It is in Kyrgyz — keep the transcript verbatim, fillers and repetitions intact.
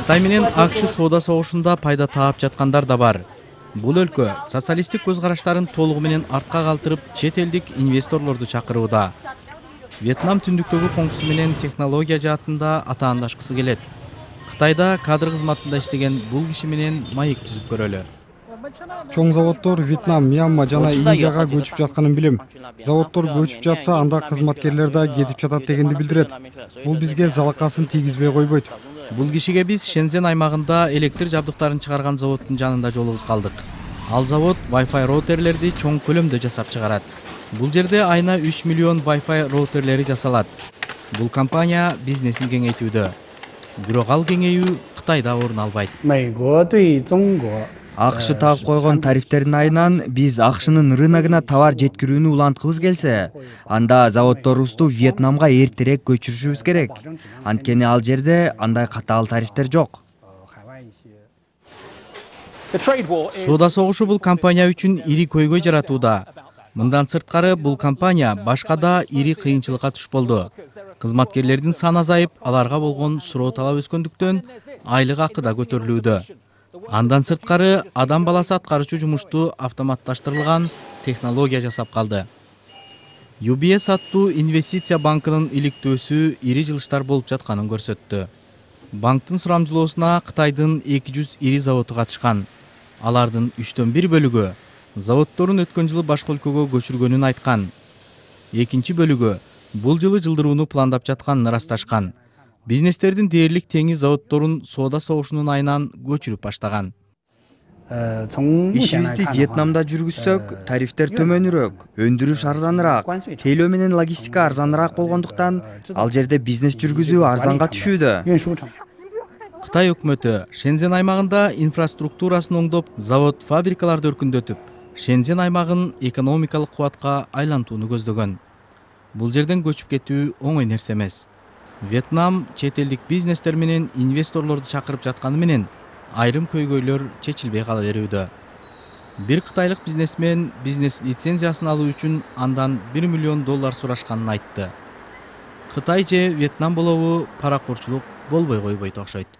Кытай менен АКШ соода согушунда пайда таап жаткандар да бар. Бул өлкө социалисттик көз караштарын толугу менен артка калтырып, чет элдик инвесторлорду чакырууда. Вьетнам түндүктөгү коңшусу менен технология жаатында атаандашкысы келет. Кытайда кадр кызматында иштеген бул киши менен маек түзүп көрөлү. Чоң заводдор Вьетнам, Мьянма жана Индияга көчүп жатканын билем. Заводдор көчүп жатса, анда кызматкерлер да кетип жатат дегенди билдирет. Бул бизге залакасын тийгизбей койбойт. Бул кишиге биз Шензен аймагында электр жабдыктарын чыгарган заводдун жанында жолугуп калдык. Ал завод Wi-Fi роутерлерди чоң көлөмдө жасап чыгарат. Бул жерде айына үч миллион Wi-Fi роутерлери жасалат. Бул компания бизнесин кеңейтүүдө. Бирок ал кеңейүү Кытайда орун албайт. АКШ тагып койгон тарифтердин айынан биз АКШнын рыногуна товар жеткирүүнү уланткыбыз келсе, анда заводдорубузду Вьетнамга эртерээк көчүрүшүбүз керек. Анткени ал жерде андай катаал тарифтер жок. Соода согушу бул компания үчүн ири көйгөй жаратууда. Мындан сырткары бул компания башка да ири кыйынчылыкка туш болду. Кызматкерлердин саны азайып, аларга болгон суроо талап өскөндүктөн айлык акы да көтөрүлүүдө. Андан сырткары адам баласы аткарчу жумушту автоматташтырылган технология жасап калды. ю би эс аттуу инвестиция банкынын иликтөөсү ири жылыштар болуп жатканын көрсөттү. Банктын сурамжылоосуна Кытайдын эки жүз ири заводу катышкан. Алардын үчтөн бир бөлүгү заводдорун өткөн жылы башка өлкөгө көчүргөнүн айткан. Экинчи бөлүгү бул жылы жылдырууну пландап жатканын ырасташкан. Бизнестердин дээрлик теңиз заводдорун соода согушунун айынан көчүрүп баштаган. Ишибизди Вьетнамда жүргүзсөк, тарифтер төмөнүрөөк, өндүрүш арзаныраак, тейлөө менен логистика арзаныраак болгондуктан ал жерде бизнес жүргүзүү арзанга түшүүдө. Кытай өкмөтү Шензен аймагында инфраструктурасын оңдоп, завод, фабрикаларды өркүндөтүп, Шензен аймагын экономикалык кубатка айлантууну көздөгөн. Бул жерден көчүп кетүү оңой нерсе эмес. Вьетнам чет элдик бизнестер менен инвесторлорду чакырып жатканы менен айрым көйгөйлөр чечилбей кала берүүдө. Бир кытайлык бизнесмен бизнес лицензиясын алуу үчүн андан бир миллион доллар сурашканын айтты. Кытай же Вьетнам болобу паракурчулук болбой койбойт окшойт.